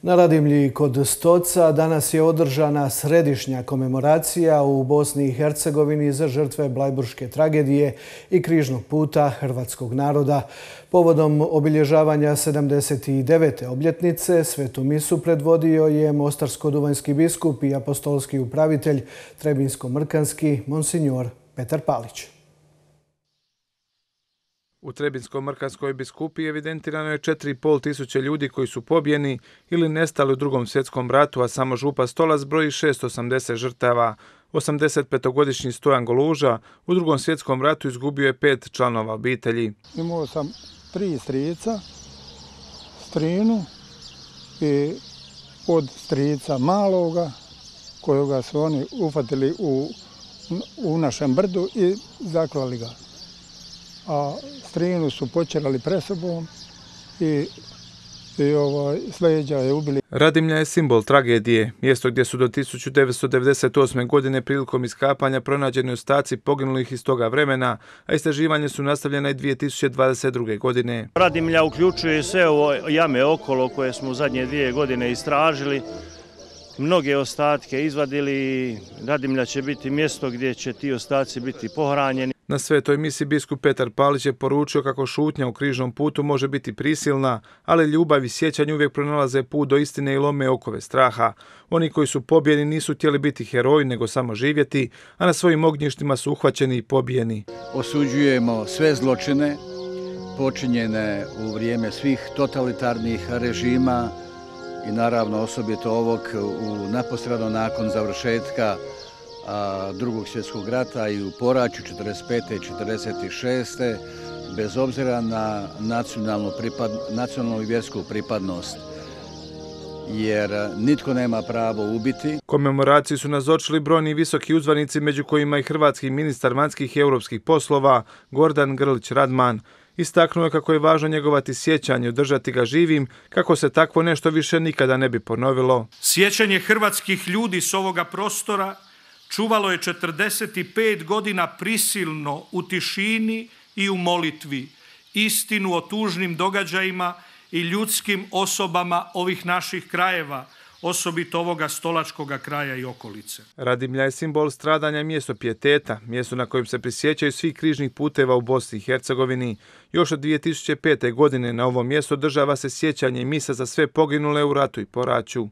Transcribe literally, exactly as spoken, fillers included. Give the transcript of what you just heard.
Na Radimlji kod Stoca danas je održana središnja komemoracija u Bosni i Hercegovini za žrtve Blajburške tragedije i križnog puta hrvatskog naroda. Povodom obilježavanja sedamdeset devete obljetnice svetu misu predvodio je mostarsko-duvanjski biskup i apostolski upravitelj Trebinsko-Mrkanski monsinjor Petar Palić. U Trebinsko-Mrkanskoj biskupiji evidentirano je četiri i pol tisuće ljudi koji su pobijeni ili nestali u Drugom svjetskom ratu, a samo župa Stolac broji šesto osamdeset žrtava. osamdesetpetogodišnji Stojan Goluža u Drugom svjetskom ratu izgubio je pet članova obitelji. Imao sam tri strica, strinu i od strica maloga kojoga su oni ufatili u, u našem brdu i zaklali ga. A strinu su počerali presobom i, i ovaj, sleđa je ubili. Radimlja je simbol tragedije, mjesto gdje su do tisuću devetsto devedeset osme. godine prilikom iskapanja pronađeni ostaci poginulih iz toga vremena, a istraživanje su nastavljena i dvije tisuće dvadeset druge. godine. Radimlja uključuje sve ovo jame okolo koje smo u zadnje dvije godine istražili, mnoge ostatke izvadili. Radimlja će biti mjesto gdje će ti ostaci biti pohranjeni. Na svetoj misi biskup Petar Palić je poručio kako šutnja u križnom putu može biti prisilna, ali ljubav i sjećanje uvijek pronalaze put do istine i lome okove straha. Oni koji su pobijeni nisu htjeli biti heroji, nego samo živjeti, a na svojim ognjištima su uhvaćeni i pobijeni. Osuđujemo sve zločine počinjene u vrijeme svih totalitarnih režima i naravno osobito ovog u neposredno nakon završetka Drugog svjetskog rata i u poraću četrdeset pete i četrdeset šeste bez obzira na nacionalnu, pripad, nacionalnu i vjersku pripadnost, jer nitko nema pravo ubiti. Komemoraciji su nazočili brojni visoki uzvanici, među kojima i hrvatski ministar vanjskih i europskih poslova Gordan Grlić Radman. Istaknuo je kako je važno njegovati sjećanje, održati ga živim, kako se takvo nešto više nikada ne bi ponovilo. Sjećanje hrvatskih ljudi s ovoga prostora čuvalo je četrdeset pet godina prisilno u tišini i u molitvi istinu o tužnim događajima i ljudskim osobama ovih naših krajeva, osobito ovoga stolačkoga kraja i okolice. Radimlja je simbol stradanja i mjesto pijeteta, mjesto na kojem se prisjećaju svih križnih puteva u Bosni i Hercegovini. Još od dvije tisuće pete. godine na ovom mjestu održava se sjećanje i misa za sve poginule u ratu i poraću.